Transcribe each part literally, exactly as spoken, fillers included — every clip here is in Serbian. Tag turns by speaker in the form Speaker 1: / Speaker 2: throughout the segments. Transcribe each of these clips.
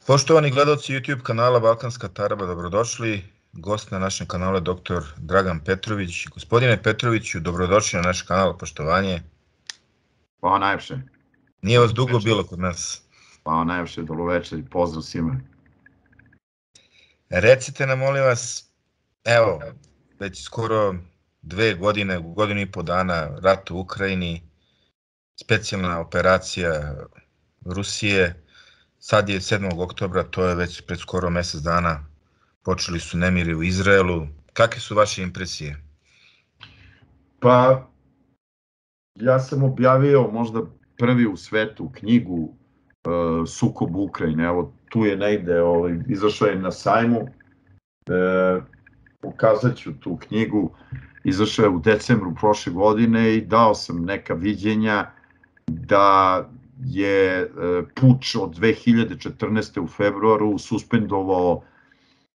Speaker 1: Poštovani gledalci YouTube kanala Balkanska Taraba, dobrodošli. Gost na našem kanalu je doktor Dragan Petrović. Gospodine Petroviću, dobrodošli na naš kanal, poštovanje.
Speaker 2: Hvala najlepše.
Speaker 1: Nije vas dugo bilo kod nas.
Speaker 2: Hvala najlepše, dobroveče i pozdrav svima.
Speaker 1: Recite nam, molim vas, evo, već skoro dve godine, godinu i po dana rat u Ukrajini, specijalna operacija Rusije, sad je sedmog oktobra, to je već pred skoro mesec dana, počeli su nemiri u Izraelu. Kakve su vaše impresije?
Speaker 2: Pa, ja sam objavio možda prvi u svetu knjigu uh, Sukob Ukrajine. Evo, tu je negde, ovaj, izašao je na sajmu, e, pokazat ću tu knjigu, izašao je u decembru prošle godine i dao sam neka viđenja da je e, puč od dve hiljade četrnaeste. u februaru suspendovao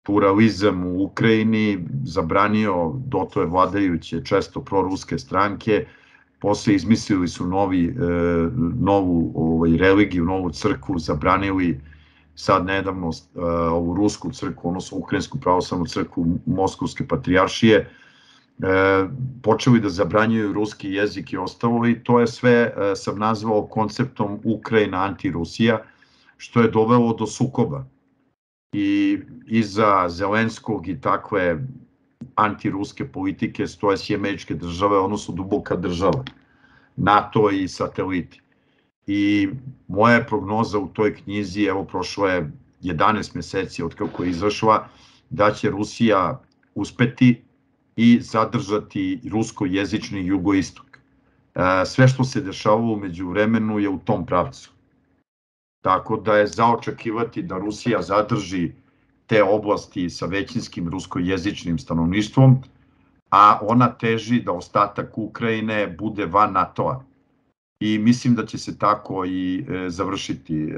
Speaker 2: pluralizam u Ukrajini, zabranio dotle vladajuće često proruske stranke, posle izmislili su novi, e, novu ovaj, religiju, novu crkvu, zabranili sad nedavno e, ovu rusku crkvu, odnosno ukrajinsku pravoslavnu crkvu Moskovske patrijaršije, e, počeli da zabranjuju ruski jezik i ostalo, i to je sve e, sam nazvao konceptom Ukrajina anti-Rusija, što je dovelo do sukoba. I iza Zelenskog i takve antiruske politike stoje Sjedinjene Američke Države, odnosno duboka država, NATO i sateliti. I moja je prognoza u toj knjizi, evo prošlo je jedanaest meseci od kako je izašla, da će Rusija uspeti i zadržati ruskojezični jugoistok. Sve što se dešavalo umeđu vremenu je u tom pravcu. Tako da je za očekivati da Rusija zadrži te oblasti sa većinskim ruskojezičnim stanovništvom, a ona teži da ostatak Ukrajine bude van NATO-a. I mislim da će se tako i e, završiti. E,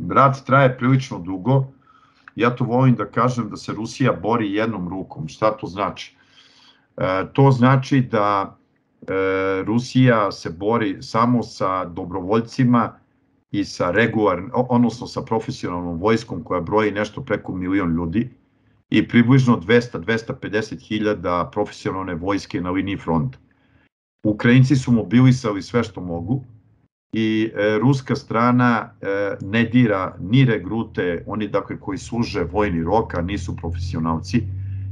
Speaker 2: rat traje prilično dugo. Ja to volim da kažem da se Rusija bori jednom rukom. Šta to znači? E, to znači da e, Rusija se bori samo sa dobrovoljcima i sa regularnim, odnosno sa profesionalnom vojskom koja broji nešto preko milion ljudi i približno dvesta do dvesta pedeset hiljada profesionalne vojske na liniji fronta. Ukrajinci su mobilisali sve što mogu i e, ruska strana e, ne dira ni regrute, oni dakle koji služe vojni rok, a nisu profesionalci,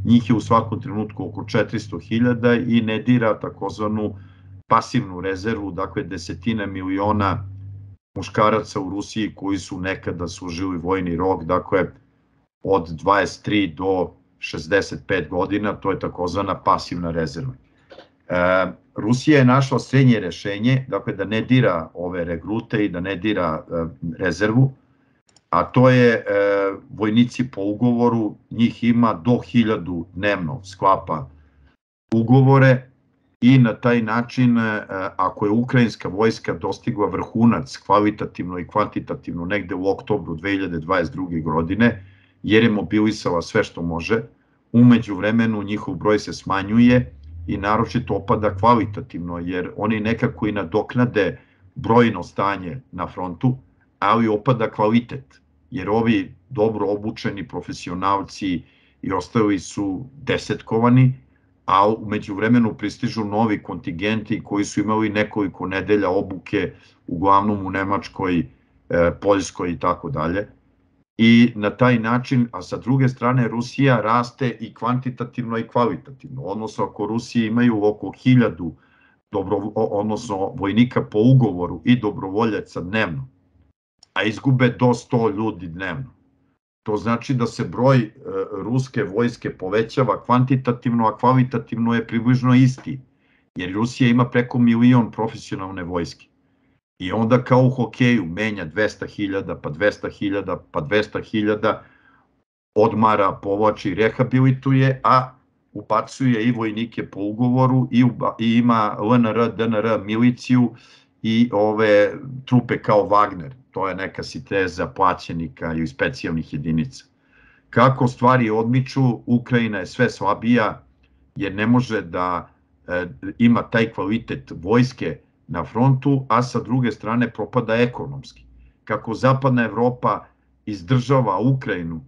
Speaker 2: njih je u svakom trenutku oko četiristo hiljada, i ne dira takozvanu pasivnu rezervu, dakle desetine miliona muškaraca u Rusiji koji su nekada služili vojni rok, dakle od dvadeset tri do šezdeset pet godina, to je takozvana pasivna rezerva. E, Rusija je našla srednje rešenje, dakle da ne dira ove regrute i da ne dira e, rezervu, a to je e, vojnici po ugovoru, njih ima do hiljadu dnevno, sklapa ugovore, i na taj način, ako je ukrajinska vojska dostigla vrhunac kvalitativno i kvantitativno negde u oktobru dve hiljade dvadeset druge. godine, jer je mobilisala sve što može, umeđu vremenu njihov broj se smanjuje i naročito opada kvalitativno, jer oni nekako i nadoknade brojno stanje na frontu, ali opada kvalitet, jer ovi dobro obučeni profesionalci i ostali su desetkovani, a umeđu vremenu pristižu novi kontingenti koji su imali nekoliko nedelja obuke, uglavnom u Nemačkoj, Poljskoj i tako dalje. I na taj način, a sa druge strane Rusija raste i kvantitativno i kvalitativno, odnosno ako Rusiji imaju oko hiljadu dobro, odnosno vojnika po ugovoru i dobrovoljaca dnevno, a izgube do sto ljudi dnevno. To znači da se broj e, ruske vojske povećava kvantitativno, a kvalitativno je približno isti, jer Rusija ima preko milion profesionalne vojske. I onda kao u hokeju menja dvesta hiljada, pa dvesta hiljada, pa dvesta hiljada, odmara, povlači, rehabilituje, a ubacuje i vojnike po ugovoru i, uba, i ima L N R, D N R, miliciju i ove trupe kao Wagner. To je neka sinteza plaćenika i specijalnih jedinica. Kako stvari odmiču, Ukrajina je sve slabija jer ne može da e, ima taj kvalitet vojske na frontu, a sa druge strane propada ekonomski. Kako zapadna Evropa izdržava Ukrajinu,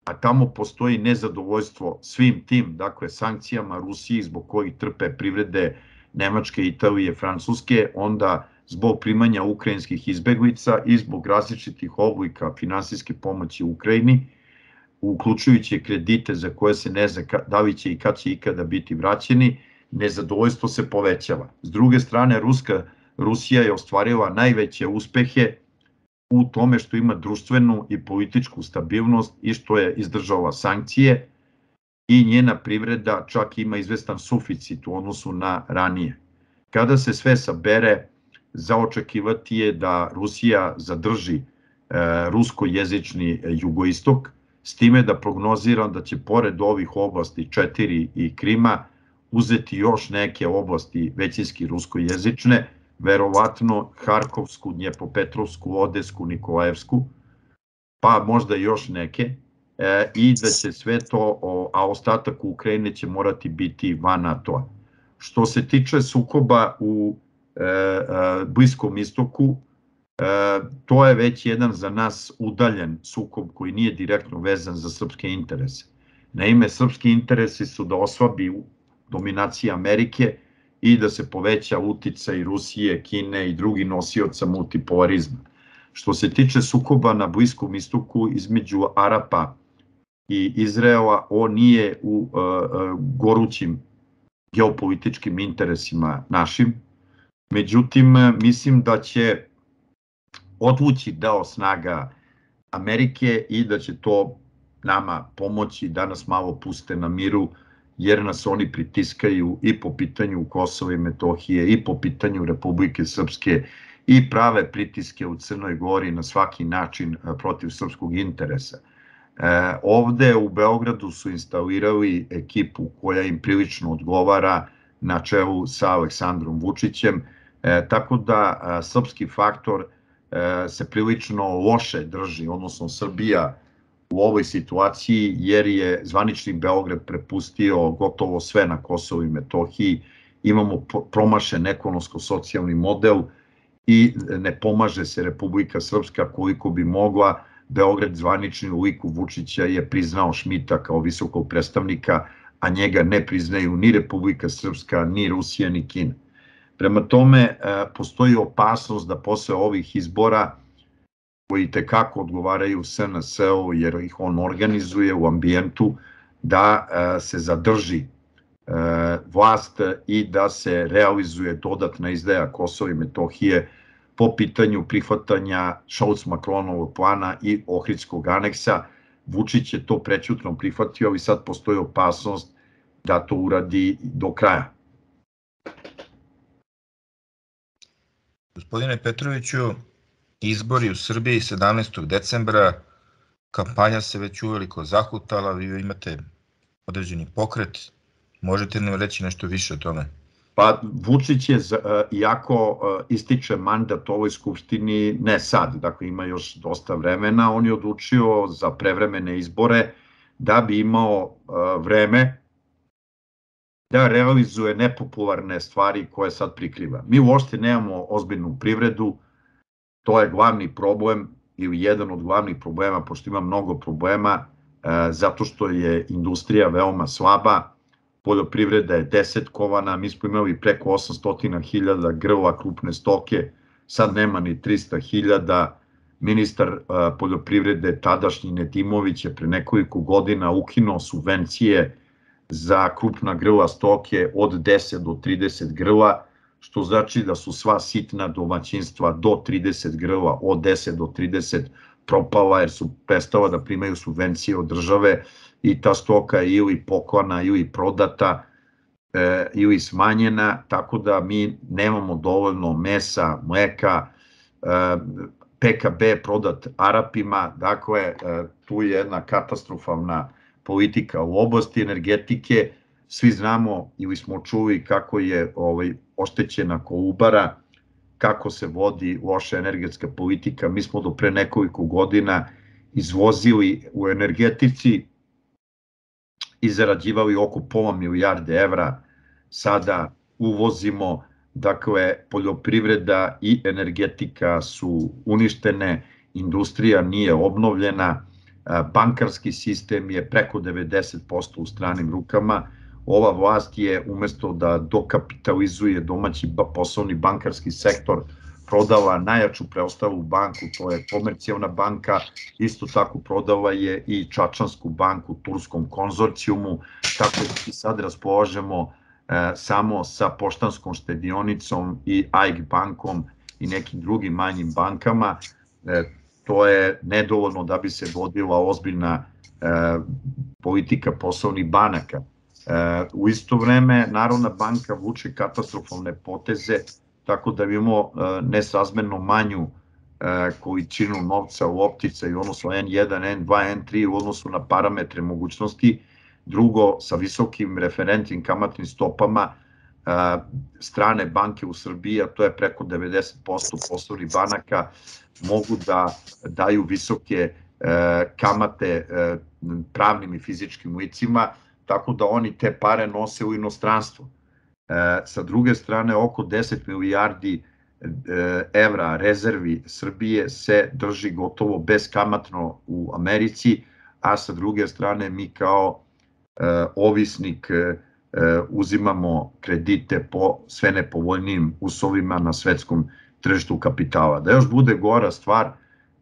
Speaker 2: a tamo postoji nezadovoljstvo svim tim, dakle, sankcijama Rusiji zbog kojih trpe privrede Nemačke, Italije, Francuske, onda zbog primanja ukrajinskih izbeglica i zbog različitih oblika finansijske pomoći Ukrajini, uključujući kredite za koje se ne zna da li će i kad će ikada biti vraćeni, nezadovoljstvo se povećava. S druge strane, Ruska, Rusija je ostvarila najveće uspehe u tome što ima društvenu i političku stabilnost i što je izdržala sankcije i njena privreda čak ima izvestan suficit u odnosu na ranije. Kada se sve sabere, za očekivati je da Rusija zadrži e, ruskojezični jugoistok, s time da prognoziram da će pored ovih oblasti četiri i Krima uzeti još neke oblasti većinski ruskojezične, verovatno Harkovsku, Dnjepropetrovsku, Odesku, Nikolajevsku, pa možda još neke, e, i da će sve to, o, a ostatak Ukrajine će morati biti van NATO-a. Što se tiče sukoba u e, e, Bliskom istoku, e, to je već jedan za nas udaljen sukob koji nije direktno vezan za srpske interese. Naime, srpski interesi su da oslabi dominacija Amerike i da se poveća uticaj Rusije, Kine i drugih nosioca multipolarizma. Što se tiče sukoba na Bliskom istoku između Arapa i Izraela, on nije u uh, uh, gorućim geopolitičkim interesima našim. Međutim, mislim da će odvući deo snaga Amerike i da će to nama pomoći da nas malo puste na miru, jer nas oni pritiskaju i po pitanju Kosova i Metohije i po pitanju Republike Srpske i prave pritiske u Crnoj Gori na svaki način protiv srpskog interesa. E, ovde u Beogradu su instalirali ekipu koja im prilično odgovara na čelu sa Aleksandrom Vučićem, e, tako da a, srpski faktor e, se prilično loše drži, odnosno Srbija u ovoj situaciji, jer je zvanični Beograd prepustio gotovo sve na Kosovu i Metohiji, imamo promašen ekonomsko-socijalni model i ne pomaže se Republika Srpska koliko bi mogla. Beograd zvanični u liku Vučića je priznao Šmita kao visokog predstavnika, a njega ne priznaju ni Republika Srpska, ni Rusija, ni Kina. Prema tome, postoji opasnost da posle ovih izbora, koji tekako odgovaraju S N S-u jer ih on organizuje u ambijentu, da se zadrži vlast i da se realizuje dodatna izdaja Kosova i Metohije po pitanju prihvatanja Šolc-Makronovog plana i Ohridskog aneksa. Vučić je to prećutno prihvatio, ali sad postoji opasnost da to uradi do kraja.
Speaker 1: Gospodine Petroviću, izbori u Srbiji sedamnaestog decembra, kampanja se već uveliko zahutala, vi imate određeni pokret, možete nam reći nešto više o tome?
Speaker 2: Pa Vučić je, iako ističe mandat ovoj skupštini, ne sad, dakle ima još dosta vremena, on je odlučio za prevremene izbore da bi imao vreme da realizuje nepopularne stvari koje sad prikriva. Mi uopšte nemamo ozbiljnu privredu, to je glavni problem ili jedan od glavnih problema, pošto ima mnogo problema, zato što je industrija veoma slaba, poljoprivreda je desetkovana, mi smo imali preko osamsto hiljada grla krupne stoke, sad nema ni trista hiljada. Ministar poljoprivrede tadašnji Nedimović je pre nekoliko godina ukinuo subvencije za krupna grla stoke od deset do trideset grla, što znači da su sva sitna domaćinstva do trideset grla, od deset do trideset propala jer su prestala da primaju subvencije od države i ta stoka je ili poklana ili prodata e, ili smanjena, tako da mi nemamo dovoljno mesa, mleka, e, P K B prodat Arapima, dakle e, tu je jedna katastrofalna politika u oblasti energetike. Svi znamo ili smo čuli kako je ovaj, oštećena Kolubara, kako se vodi loša energetska politika. Mi smo do pre nekoliko godina izvozili u energetici i zarađivali oko pola milijarde evra, sada uvozimo, dakle poljoprivreda i energetika su uništene industrija nije obnovljena, bankarski sistem je preko devedeset posto u stranim rukama. Ova vlast je umesto da dokapitalizuje domaći poslovni bankarski sektor, prodala najjaču preostalu banku, to je Komercijalna banka, isto tako prodala je i Čačansku banku turskom konzorcijumu, tako da i sad raspolažemo samo sa Poštanskom štedionicom i A I K bankom i nekim drugim manjim bankama. To je nedovoljno da bi se vodila ozbiljna politika poslovnih banaka. U isto vreme Narodna banka vuče katastrofalne poteze, tako da imamo nesrazmerno manju količinu novca u opticaju u odnosu en jedan, en dva, en tri u odnosu na parametre mogućnosti. Drugo, sa visokim referentnim kamatnim stopama strane banke u Srbiji, a to je preko devedeset posto poslovnih banaka, mogu da daju visoke kamate pravnim i fizičkim licima, tako da oni te pare nose u inostranstvo. Sa druge strane, oko deset milijardi evra rezervi Srbije se drži gotovo beskamatno u Americi, a sa druge strane mi kao ovisnik uzimamo kredite po sve nepovoljnijim uslovima na svetskom tržištu kapitala. Da još bude gora stvar,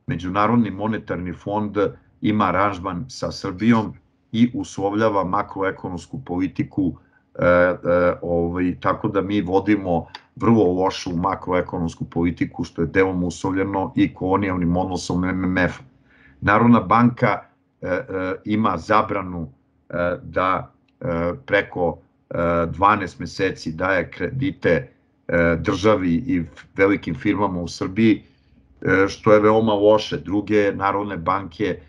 Speaker 2: Međunarodni monetarni fond ima aranžman sa Srbijom i uslovljava makroekonomsku politiku, tako da mi vodimo vrlo lošu makroekonomsku politiku, što je delom uslovljeno i kolonijalnim odnosom em em ef-a. Narodna banka ima zabranu da preko dvanaest meseci daje kredite državi i velikim firmama u Srbiji, što je veoma loše. Druge narodne banke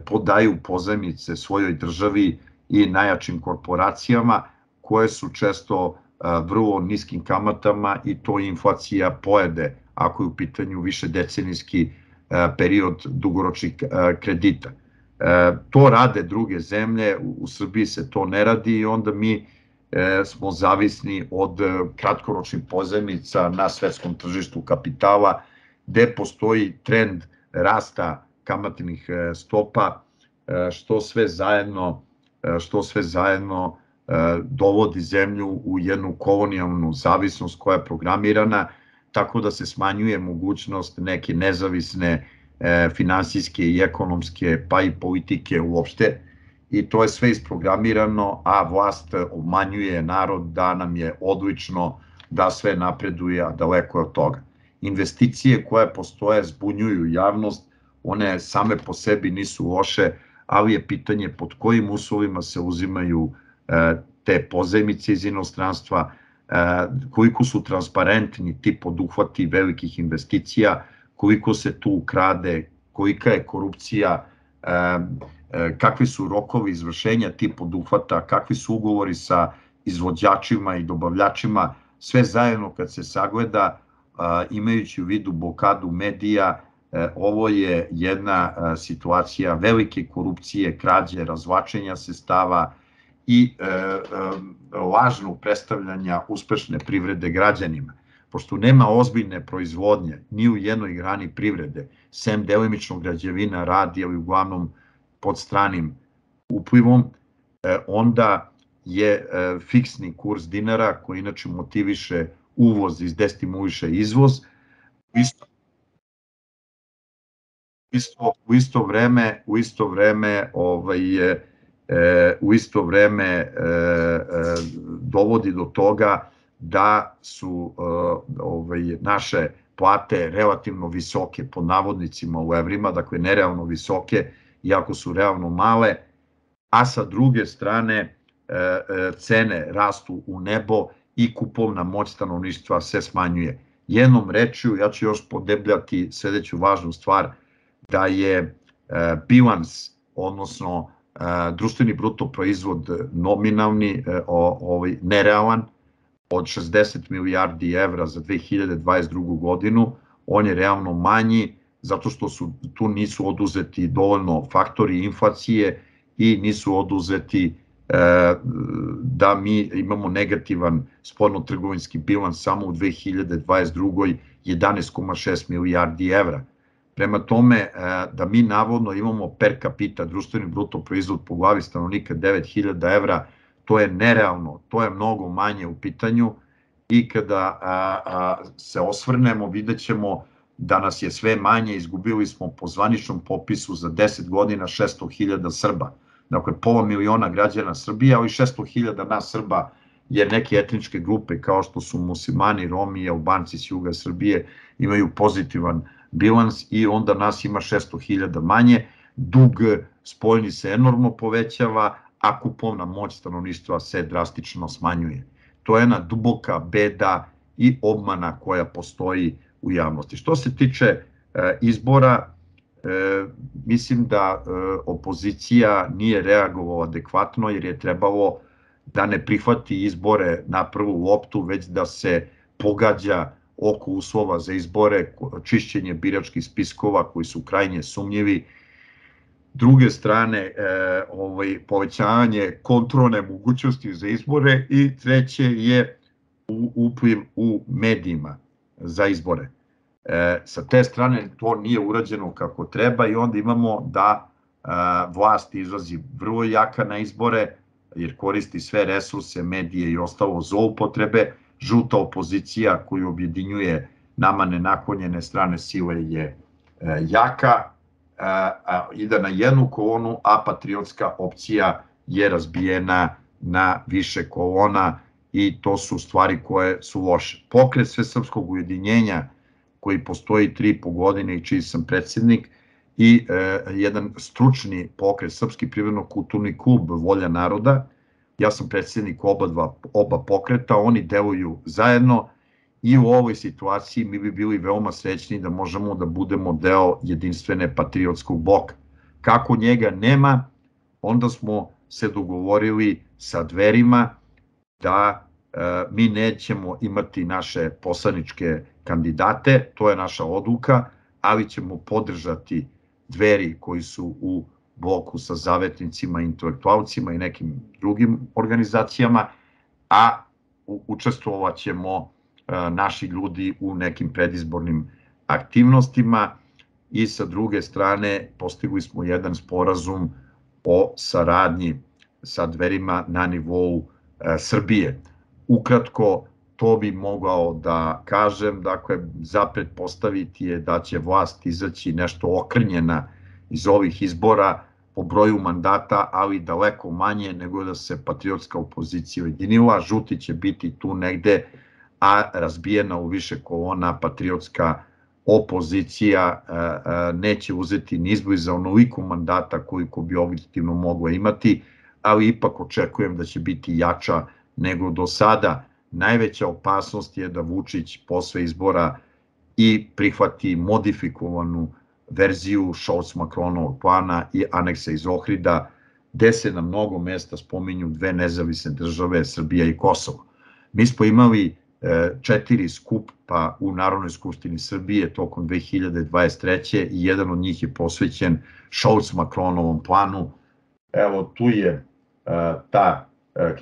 Speaker 2: podaju pozajmice svojoj državi i najjačim korporacijama, koje su često vrlo niskim kamatama i to inflacija pojede ako je u pitanju više decenijski period dugoročnih kredita. To rade druge zemlje, u Srbiji se to ne radi i onda mi smo zavisni od kratkoročnih pozajmica na svetskom tržištu kapitala, gde postoji trend rasta kamatnih stopa, što sve zajedno, što sve zajedno dovodi zemlju u jednu kolonijalnu zavisnost koja je programirana, tako da se smanjuje mogućnost neke nezavisne finansijske i ekonomske, pa i politike uopšte. I to je sve isprogramirano, a vlast obmanjuje narod da nam je odlično, da sve napreduje, a daleko je od toga. Investicije koje postoje zbunjuju javnost, one same po sebi nisu loše, ali je pitanje pod kojim uslovima se uzimaju te pozajmice iz inostranstva, koliko su transparentni ti poduhvati velikih investicija, koliko se tu ukrade, kolika je korupcija, kakvi su rokovi izvršenja tih poduhvata, kakvi su ugovori sa izvođačima i dobavljačima, sve zajedno kad se sagleda, imajući u vidu blokadu medija, ovo je jedna situacija velike korupcije, krađe, razvlačenja sredstava i lažnog predstavljanja uspešne privrede građanima. Pošto nema ozbiljne proizvodnje ni u jednoj grani privrede, sem delimično građevina radi, ali uglavnom pod stranim uplivom, onda je fiksni kurs dinara, koji inače motiviše uvoz i destimuliše izvoz, u isto vreme, u isto vreme, u isto vreme dovodi do toga da su naše plate relativno visoke, pod navodnicima u evrima, dakle nerealno visoke, iako su realno male, a sa druge strane cene rastu u nebo i kupovna moć stanovništva se smanjuje. Jednom rečju, ja ću još podebljati sledeću važnu stvar, da je bilans, odnosno društveni bruto proizvod nominalni, nerealan, od šezdeset milijardi evra za dve hiljade dvadeset drugu godinu, on je realno manji, zato što tu nisu oduzeti dovoljno faktori inflacije i nisu oduzeti da mi imamo negativan spoljno-trgovinski bilans samo u dve hiljade dvadeset drugoj jedanaest zarez šest milijardi evra. Prema tome, da mi navodno imamo per capita društveni bruto proizvod po glavi stanovnika devet hiljada evra, to je nerealno, to je mnogo manje u pitanju i kada se osvrnemo vidjet ćemo da nas je sve manje, izgubili smo po zvaničnom popisu za deset godina šesto hiljada Srba. Dakle, pola miliona građana Srbije, ali šesto hiljada nas Srba jer neke etničke grupe kao što su muslimani, Romi i Albanci s juga Srbije imaju pozitivan bilans i onda nas ima šesto hiljada manje, dug spoljni se enormno povećava, a kupovna moć stanovništva se drastično smanjuje. To je jedna duboka beda i obmana koja postoji u javnosti. Što se tiče izbora, mislim da opozicija nije reagovala adekvatno jer je trebalo da ne prihvati izbore na prvu loptu, već da se pogađa oko uslova za izbore, čišćenje biračkih spiskova koji su krajnje sumnjivi. Druge strane, povećavanje kontrolne mogućnosti za izbore i treće je upliv u medijima za izbore. Sa te strane to nije urađeno kako treba i onda imamo da vlast izlazi vrlo jaka na izbore jer koristi sve resurse, medije i ostalo zloupotrebe. Žuta opozicija koju objedinjuje nama nenaklonjene strane sile je jaka, ide na jednu kolonu, a patriotska opcija je razbijena na više kolona i to su stvari koje su loše. Pokret Svesrpskog ujedinjenja koji postoji tri i po godine i čiji sam predsjednik i jedan stručni pokret, Srpski privredno-kulturni klub Volja naroda, ja sam predsjednik oba pokreta, oni deluju zajedno i u ovoj situaciji mi bi bili veoma srećni da možemo da budemo deo jedinstvene patriotskog bloka. Kako njega nema, onda smo se dogovorili sa Dverima da mi nećemo imati naše poslaničke kandidate, to je naša odluka, ali ćemo podržati Dveri koji su u bloku sa zavetnicima, intelektualcima i nekim drugim organizacijama, a učestvovat ćemo naši ljudi u nekim predizbornim aktivnostima i sa druge strane postigli smo jedan sporazum o saradnji sa Dverima na nivou Srbije. Ukratko, to bi mogao da kažem, dakle, za pretpostaviti je da će vlast izaći nešto okrnjena iz ovih izbora po broju mandata, ali daleko manje nego da se patriotska opozicija ujedinila. Žuti će biti tu negde, a razbijena u više kolona patriotska opozicija neće uzeti ni izbliza onoliko mandata koliko bi objektivno mogla imati, ali ipak očekujem da će biti jača nego do sada. Najveća opasnost je da Vučić posle izbora i prihvati modifikovanu verziju Scholz-Macronovog plana i aneksa iz Ohrida, gde se na mnogo mesta spominju dve nezavisne države, Srbija i Kosovo. Mi smo imali četiri skupa u Narodnoj skupštini Srbije tokom dve hiljade dvadeset treće i jedan od njih je posvećen Scholz-Macronovom planu. Evo, tu je ta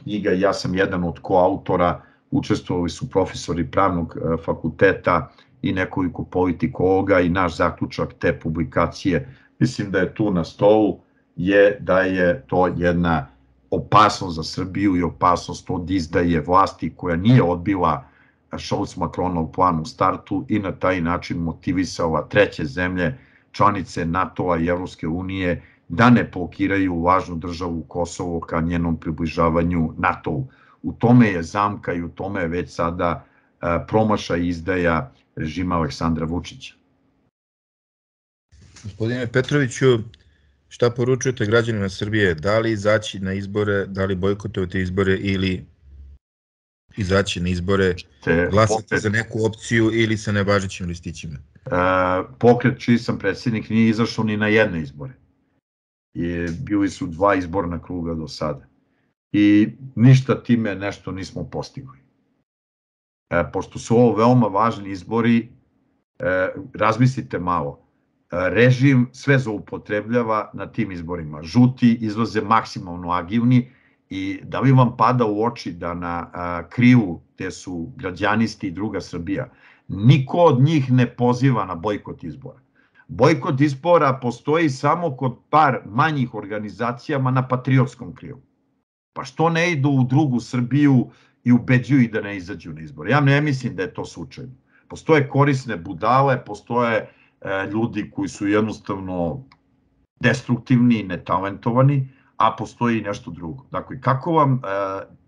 Speaker 2: knjiga, ja sam jedan od koautora, učestvovali su profesori pravnog fakulteta i nekoliko politikologa i naš zaključak te publikacije, mislim da je tu na stolu, je da je to jedna opasnost za Srbiju i opasnost od izdaje vlasti koja nije odbila Scholz-Macronov plan u startu i na taj način motivisala treće zemlje, članice NATO-a i Evropske unije, da ne blokiraju važnu državu Kosovo ka njenom približavanju NATO-u. U tome je zamka i u tome je već sada promašaj izdaja režima Aleksandra Vučića.
Speaker 1: Gospodine Petroviću, šta poručujete građanima Srbije? Da li izaći na izbore, da li bojkotovati izbore ili izaći na izbore, glasati za neku opciju ili sa nevažećim listićima?
Speaker 2: Pokret čiji sam predsjednik nije izašao ni na jedne izbore. Bili su dva izborna kruga do sada. I ništa time nešto nismo postigli. Pošto su ovo veoma važni izbori, razmislite malo. Režim sve zloupotrebljava na tim izborima. Žuti izlaze maksimalno agilni i da li vam pada u oči da na krivu, gde su građanisti i druga Srbija, niko od njih ne poziva na bojkot izbora. Bojkot izbora postoji samo kod par manjih organizacijama na patriotskom krilu. Pa što ne idu u drugu Srbiju i ubeđuju ih da ne izađu na izbore? Ja ne mislim da je to slučajno. Postoje korisne budale, postoje e, ljudi koji su jednostavno destruktivni, netalentovani, a postoji i nešto drugo. Dakle, kako vam, e,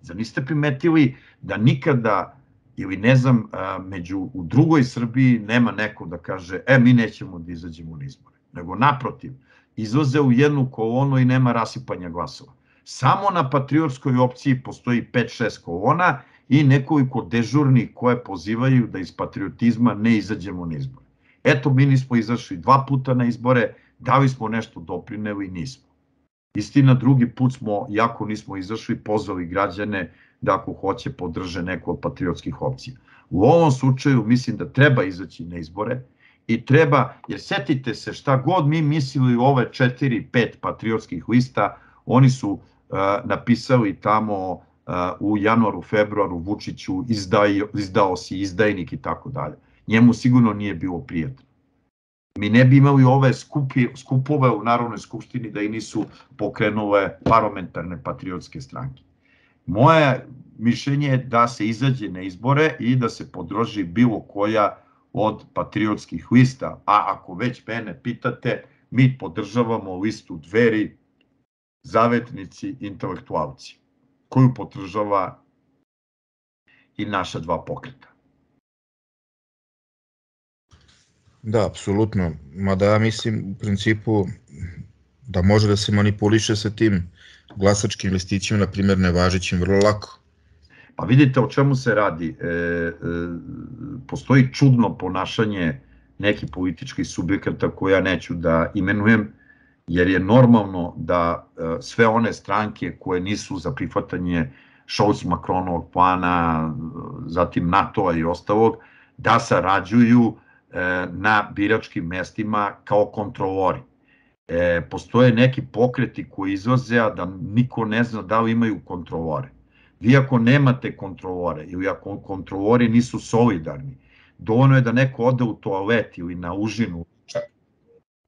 Speaker 2: zar niste primetili da nikada, ili ne znam, e, među, u drugoj Srbiji nema neko da kaže, e, mi nećemo da izađemo na izbore. Nego naprotiv, izlaze u jednu kolonu i nema rasipanja glasova. Samo na patriotskoj opciji postoji pet šest kolona i nekoliko dežurnih koje pozivaju da iz patriotizma ne izađemo na izbore. Eto, mi nismo izašli dva puta na izbore, da li smo nešto doprineli, nismo. Istina, drugi put smo, jako nismo izašli, pozvali građane da ako hoće podrže neku od patriotskih opcija. U ovom slučaju mislim da treba izaći na izbore i treba, jer setite se šta god mi mislili o ove četiri, pet patriotskih lista, oni su uh, napisali tamo uh, u januaru, februaru Vučiću izdao, izdao si izdajnik i tako dalje. Njemu sigurno nije bilo prijatno. Mi ne bi imali ove skupi, skupove u Narodnoj skupštini da i nisu pokrenule parlamentarne patriotske stranke. Moje mišljenje je da se izađe na izbore i da se podrži bilo koja od patriotskih lista, a ako već mene pitate, mi podržavamo listu Dveri, Zavetnici, Intelektualci, koju podržava i naša dva pokreta.
Speaker 1: Da, apsolutno. Mada ja mislim u principu da može da se manipuliše sa tim glasačkim listićima, na primjer nevažećim, vrlo lako.
Speaker 2: Pa vidite o čemu se radi. E, e, postoji čudno ponašanje nekih političkih subjekata koje ja neću da imenujem, jer je normalno da e, sve one stranke koje nisu za prihvatanje Scholz-Macronovog plana, zatim NATO-a i ostalog, da sarađuju e, na biračkim mestima kao kontrolori. E, postoje neki pokreti koji izlaze, a da niko ne zna da li imaju kontrolore. Vi ako nemate kontrolore ili ako kontrolori nisu solidarni, dovoljno je da neko ode u toalet ili na užinu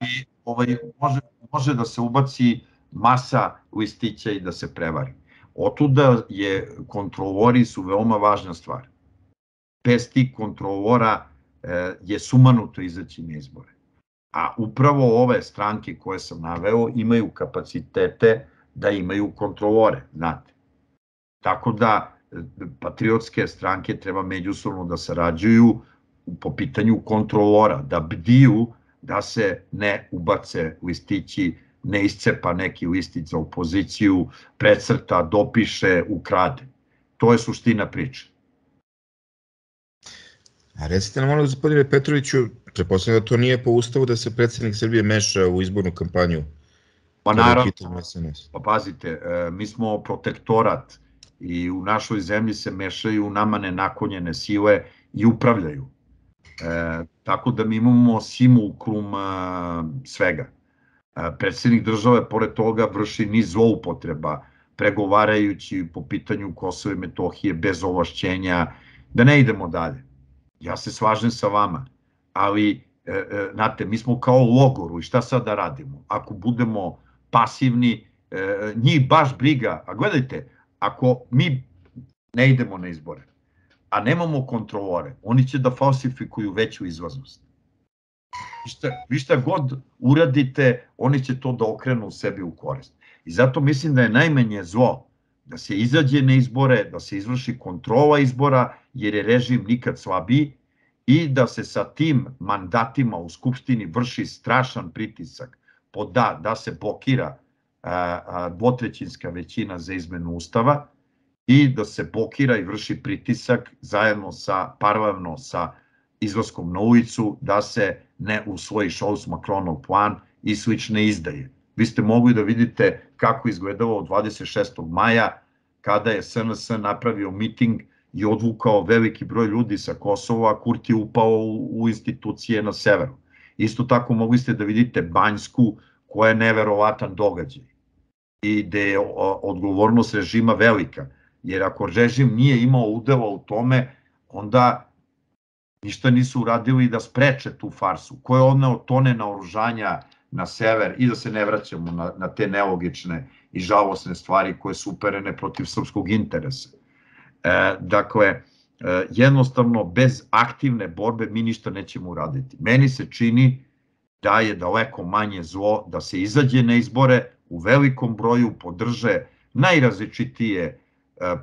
Speaker 2: i ovaj, može, može da se ubaci masa listića i da se prevari. Otuda je kontrolori su veoma važna stvar. Bez tih kontrolora e, je sumanuto izaći na izbore. A upravo ove stranke koje sam naveo imaju kapacitete da imaju kontrolore, znate. Tako da patriotske stranke treba međusobno da sarađuju po pitanju kontrolora, da bdiju da se ne ubace listići, ne iscepa neki listić za opoziciju, precrta, dopiše, ukrade. To je suština priče.
Speaker 1: A recite nam, molim, gospodine Petroviću, pretpostavljam da to nije po ustavu da se predsjednik Srbije meša u izbornu kampanju.
Speaker 2: Pa naravno, pa pazite, mi smo protektorat i u našoj zemlji se mešaju nama nenakonjene sile i upravljaju. E, tako da mi imamo simulkrum svega. E, predsjednik države, pored toga, vrši niz zloupotreba, pregovarajući po pitanju Kosova i Metohije bez ovlašćenja, da ne idemo dalje. Ja se slažem sa vama, ali, e, e, znate, mi smo kao u logoru i šta sad da radimo? Ako budemo pasivni, e, njih baš briga, a gledajte, ako mi ne idemo na izbore, a nemamo kontrolore, oni će da falsifikuju veću izlaznost. Vi šta god uradite, oni će to da okrenu sebi u korist. I zato mislim da je najmanje zlo da se izađe na izbore, da se izvrši kontrola izbora, jer je režim nikad slabiji, i da se sa tim mandatima u Skupštini vrši strašan pritisak po da, da se blokira dvotrećinska većina za izmenu Ustava i da se blokira i vrši pritisak zajedno sa, paralelno sa izlaskom na ulicu, da se ne usvoji Scholz-Macronov plan i slične izdaje. Vi ste mogli da vidite kako izgledalo dvadeset šestog maja kada je S N S napravio miting i odvukao veliki broj ljudi sa Kosova, a Kurti je upao u, u institucije na severu. Isto tako mogli ste da vidite Banjsku, koja je neverovatan događaj i gde je odgovornost režima velika. Jer ako režim nije imao udela u tome, onda ništa nisu uradili da spreče tu farsu. Ko je odneo tone naoružanja na sever i da se ne vraćamo na, na te nelogične i žalosne stvari koje su uperene protiv srpskog interesa. E, dakle, e, jednostavno bez aktivne borbe mi ništa nećemo uraditi. Meni se čini da je daleko manje zlo da se izađe na izbore, u velikom broju podrže najrazličitije e,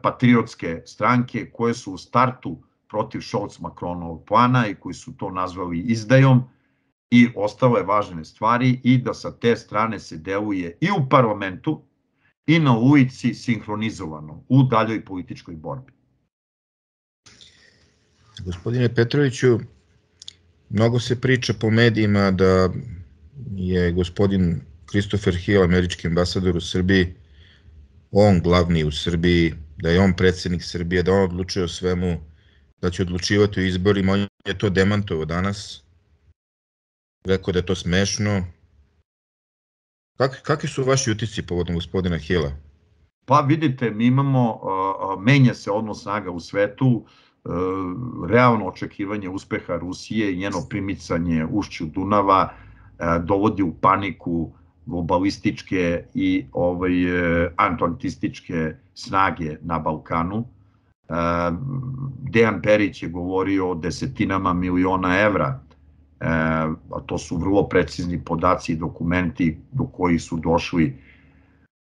Speaker 2: patriotske stranke koje su u startu protiv Scholz-Macronovog plana i koji su to nazvali izdajom i ostale važne stvari i da sa te strane se deluje i u parlamentu i na ulici sinhronizovano u daljoj političkoj borbi.
Speaker 1: Gospodine Petroviću, mnogo se priča po medijima da je gospodin Christopher Hill, američki ambasador u Srbiji, on glavni u Srbiji, da je on predsjednik Srbije, da on odlučuje o svemu, da će odlučivati o izborima. On je to demantovao danas. Rekao da je to smešno. Kak, kakvi su vaši utisci povodom gospodina Hilla?
Speaker 2: Pa vidite, mi imamo, menja se odnos snaga u svetu, realno očekivanje uspeha Rusije i njeno primicanje ušću Dunava dovodi u paniku globalističke i ovaj, atlantističke snage na Balkanu. Dejan Perić je govorio o desetinama miliona evra, a to su vrlo precizni podaci i dokumenti do kojih su došli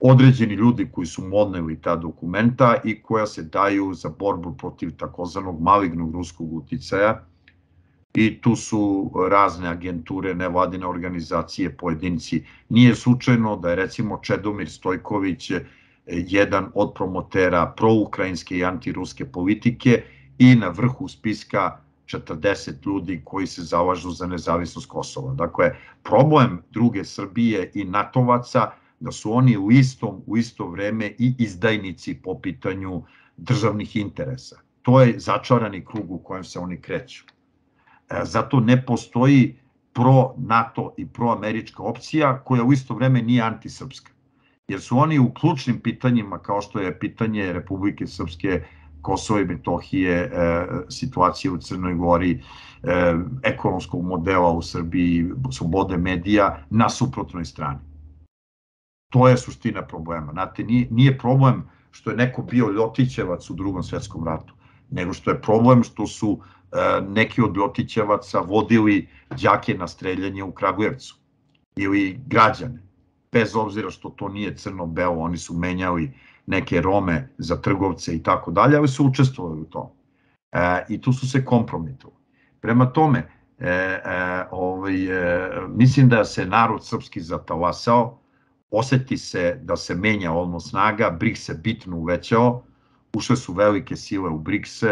Speaker 2: određeni ljudi koji su modneli ta dokumenta i koja se daju za borbu protiv takozvanog malignog ruskog uticaja. I tu su razne agenture, nevladine organizacije, pojedinci. Nije slučajno da je recimo Čedomir Stojković jedan od promotera proukrajinske i antiruske politike i na vrhu spiska četrdeset ljudi koji se zalažu za nezavisnost Kosova. Dakle, problem druge Srbije i natovaca da su oni u istom, u isto vreme i izdajnici po pitanju državnih interesa. To je začarani krug u kojem se oni kreću. Zato ne postoji pro-NATO i pro-američka opcija koja u isto vreme nije antisrpska. Jer su oni u ključnim pitanjima, kao što je pitanje Republike Srpske, Kosova i Metohije, situacije u Crnoj Gori, ekonomskog modela u Srbiji, slobode medija, na suprotnoj strani. To je suština problema. Znate, nije problem što je neko bio Ljotićevac u Drugom svetskom ratu, nego što je problem što su neki od Ljotićevaca vodili đake na streljanje u Kragujevcu ili građane. Bez obzira što to nije crno-belo, oni su menjali neke Rome za trgovce i tako dalje, ali su učestvovali u tom. I tu su se kompromitovali. Prema tome, mislim da se narod srpski zatalasao, oseti se da se menja odnos snaga, B R I C S se bitno uvećao, ušle su velike sile u B R I C S,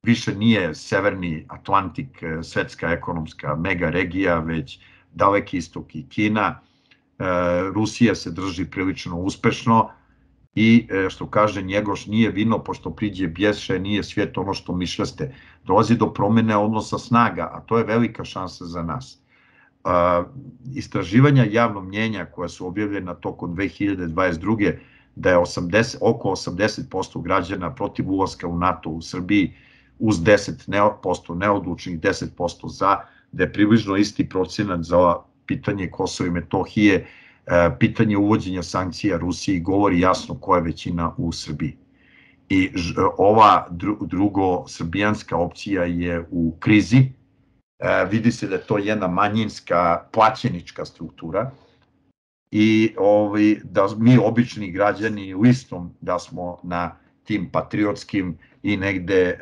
Speaker 2: više nije Severni Atlantik svetska ekonomska mega regija, već Daleki istok i Kina. Rusija se drži prilično uspešno i što kaže Njegoš, nije vino pošto priđe bješe, nije svijet ono što mišljaste. Dolazi do promene odnosa snaga, a to je velika šansa za nas. Istraživanja javnog mnjenja koja su objavljena tokom dve hiljade dvadeset druge da je oko osamdeset posto građana protiv ulaska u NATO u Srbiji uz deset posto neodlučnih, deset posto za, da je približno isti procenat za pitanje Kosova i Metohije, pitanje uvođenja sankcija Rusiji govori jasno koja je većina u Srbiji. I ova drugo srbijanska opcija je u krizi, vidi se da je to jedna manjinska plaćenička struktura i da mi obični građani u istom da smo na tim patriotskim i negde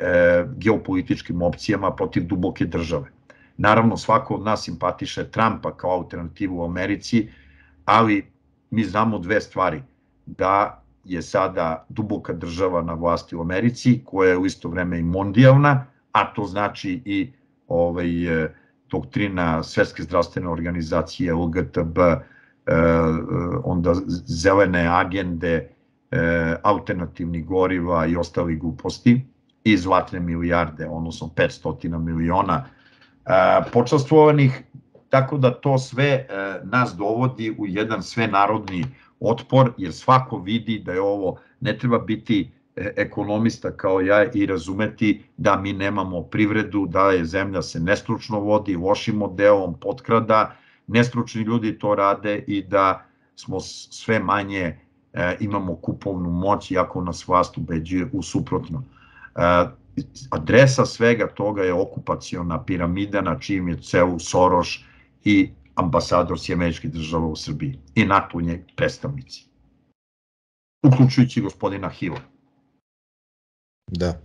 Speaker 2: geopolitičkim opcijama protiv duboke države. Naravno, svako od nas simpatiše Trumpa kao alternativu u Americi, ali mi znamo dve stvari, da je sada duboka država na vlasti u Americi, koja je u isto vreme i mondijalna, a to znači i doktrina Svetske zdravstvene organizacije, L G T B, onda zelene agende, alternativnih goriva i ostalih gluposti i zlatne milijarde, odnosno petsto miliona počastvovanih, tako da to sve nas dovodi u jedan svenarodni otpor, jer svako vidi da je ovo, ne treba biti ekonomista kao ja i razumeti da mi nemamo privredu, da je zemlja se nestručno vodi, lošim modelom potkrada, nestručni ljudi to rade i da smo sve manje, imamo kupovnu moć, iako nas vlast ubeđuje u suprotno. Adresa svega toga je okupaciona piramida na čijim je celu Soros i ambasador Sjedinjenih Država u Srbiji i NATO nje predstavnici, uključujući gospodina Hila.
Speaker 1: Da.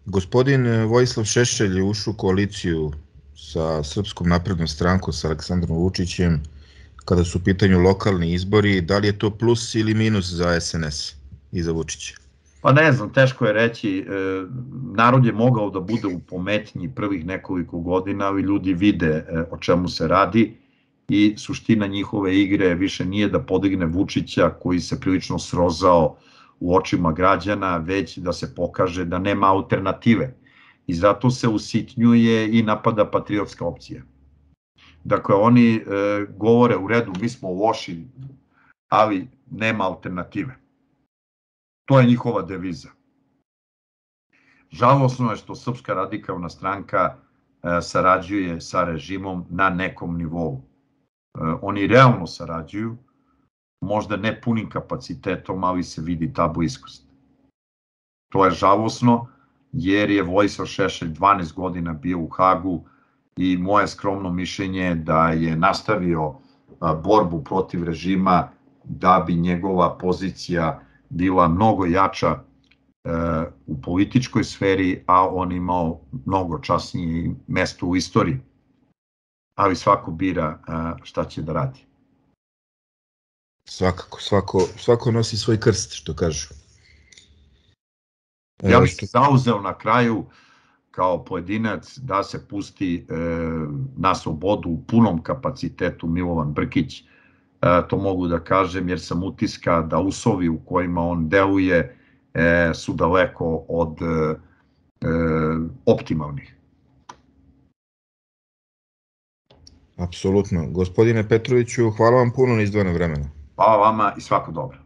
Speaker 1: Gospodin Vojislav Šešelj je ušao u koaliciju sa Srpskom naprednom strankom, sa Aleksandrom Vučićem, kada su u pitanju lokalni izbori. Da li je to plus ili minus za S N S i za Vučića?
Speaker 2: Pa ne znam, teško je reći. Narod je mogao da bude u pometnji prvih nekoliko godina, ali ljudi vide o čemu se radi i suština njihove igre više nije da podigne Vučića koji se prilično srozao u očima građana, već da se pokaže da nema alternative. I zato se usitnjuje i napada patriotska opcija. Dakle, oni govore u redu, mi smo loši, ali nema alternative. To je njihova deviza. Žalosno je što Srpska radikalna stranka sarađuje sa režimom na nekom nivou. Oni realno sarađuju, možda ne punim kapacitetom, ali se vidi ta bliskost. To je žalosno, jer je Vojislav Šešelj dvanaest godina bio u Hagu i moje skromno mišljenje je da je nastavio borbu protiv režima da bi njegova pozicija bila mnogo jača u političkoj sferi, a on imao mnogo časnije mesto u istoriji. Ali svako bira šta će da radi.
Speaker 1: Svakako, svako, svako nosi svoj krst, što kažu.
Speaker 2: Ja bih se zauzeo na kraju kao pojedinac da se pusti na slobodu u punom kapacitetu Milovan Brkić. To mogu da kažem jer sam utiska da uslovi u kojima on deluje su daleko od optimalnih.
Speaker 1: Apsolutno. Gospodine Petroviću, hvala vam puno na izdvojenog vremena.
Speaker 2: Hvala vama i svako dobro.